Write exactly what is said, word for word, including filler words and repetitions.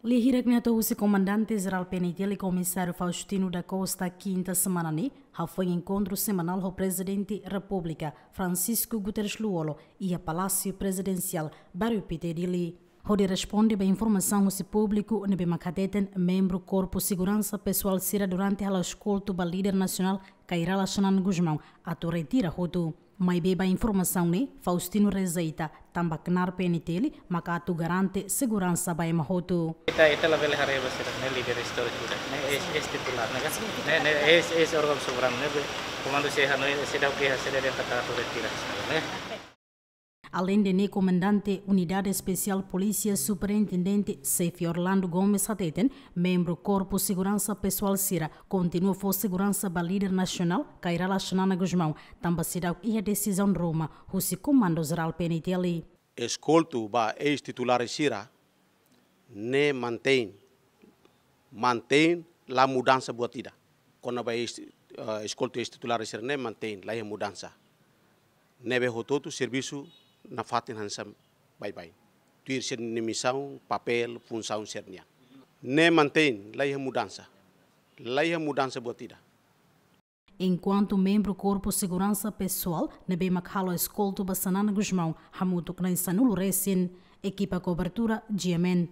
Lia hirak ne'e hato'o husi Komandante Jerál P N T L, Komisáriu Faustino da Costa, kinta semana ne'e hafoin enkontru semanál ho Prezidente Repúblika, Francisco Guterres Lú-Olo, iha Palásiu Prezidensiál, Bairru Pité, Dili, hodi responde ba informasaun husi públiku ne'ebé mak hateten membru Korpu Seguransa Pesoál sira durante hala'o eskoltu ba líder nasionál Kay Rala Xanana Gusmão atu retira hotu. Maibé ba informasaun ne'e, Faustino rejeita, tanba knaar P N T L maka atu garante seguransa ba ema hotu. Ita, ita labele haree ba sira ne'e líder istóriku ida, ne'e eis, eis titulár, ne'e ka? Ne'e, ne'e eis, eis órgaun soberanu, ne'ebé komandu sei hanoin, seidauk iha, seidauk iha katak atu retira, ne'e. Aleinde ne'e, Komandante Unidade Espesiál Polísia, Superintendente Xefe Orlando Gomes hateten, membru Korpu Seguransa Pesoál sira kontinua fó seguransa ba líder nasionál Kay Rala Xanana Gusmão, tanba seidauk iha desizaun ruma husi Komandu Jerál P N T L. Eskoltu ba eis titulár sira ne'e mantein, mantein, la mudansa buat ida. Kona-ba eis, eh, eskoltu eis titulár sira ne'e mantein, la iha mudansa. Ne'ebé hotu-hotu servisu nafatin hanesan baibain. Tuir sira-nia misaun, papél, funsaun sira-nian. Ne'e mantein, la iha mudansa. La iha mudansa buat ida. Enkuantu membru Korpu Seguransa Pesoál ne'ebé mak halo eskoltu ba Xanana Gusmão hamutuk na'in sanulu resin, ekipa kobertura G M N.